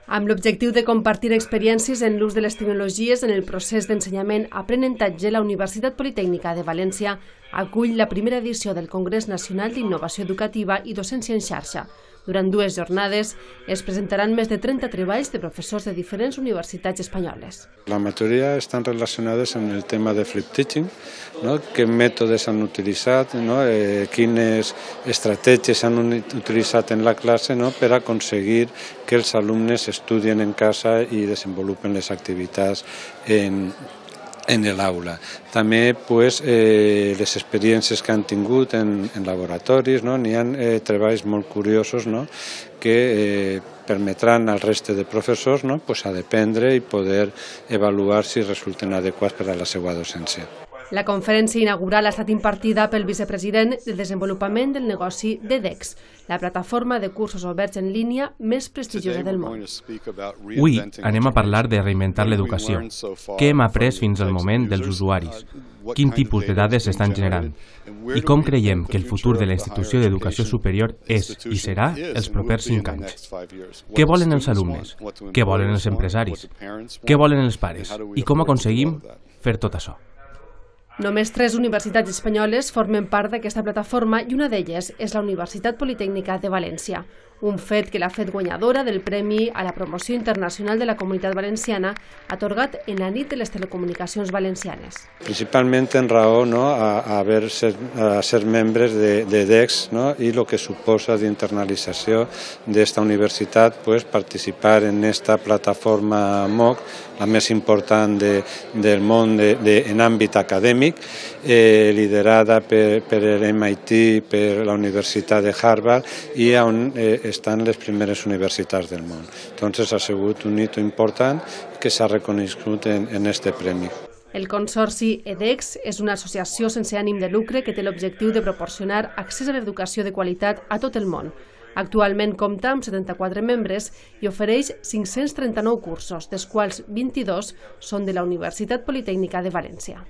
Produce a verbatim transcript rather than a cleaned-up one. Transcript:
Amb l'objectiu de compartir experiències en l'ús de les tecnologies en el procés d'ensenyament-aprenentatge, la Universitat Politècnica de València acull la primera edició del Congrés Nacional d'Innovació Educativa i Docència en Xarxa. Durant dues jornades es presentaran més de trenta treballs de professors de diferents universitats espanyoles. La majoria estan relacionades amb el tema de flip teaching, no? Qué mètodes han utilitzat, no? eh, quines estratègies han utilitzat en la classe, no? Per aconseguir que els alumnes estudien en casa i desenvolupen les activitats en en l'aula. També pues, eh, les experiències que han tingut en, en laboratoris, no? N'hi ha eh, treballs molt curiosos, no? Que eh, permetran al reste de professors, no? Pues, a dependre i poder avaluar si resulten adequats per a la seva docència. La conferència inaugural ha estat impartida pel vicepresident de Desenvolupament del Negoci d'EDEX, la plataforma de cursos oberts en línia més prestigiosa del món. Avui anem a parlar de reinventar l'educació. Què hem après fins al moment dels usuaris? Quin tipus de dades s'estan generant? I com creiem que el futur de la institució d'educació superior és i serà els propers cinc anys? Què volen els alumnes? Què volen els empresaris? Què volen els pares? I com aconseguim fer tot això? Només tres universitats espanyoles formen part d'aquesta plataforma i una d'elles és la Universitat Politècnica de València, un fet que l'ha fet guanyadora del Premi a la Promoció Internacional de la Comunitat Valenciana atorgat en la nit de les telecomunicacions valencianes. Principalment en raó, no, a, a, haver ser, a ser membres de, de EDEX, no, i el que suposa d'internalització d'esta universitat, pues, participar en esta plataforma M O C, la més important de, del món de, de, en àmbit acadèmic, eh, liderada per, per l'M I T, per la Universitat de Harvard i on eh, estan les primeres universitats del món. Entonces ha sigut un hito important que s'ha reconegut en, en este premi. El Consorci EDEX és una associació sense ànim de lucre que té l'objectiu de proporcionar accés a l'educació de qualitat a tot el món. Actualment compta amb setanta-quatre membres i ofereix cinc-cents trenta-nou cursos, dels quals vint-i-dos són de la Universitat Politècnica de València.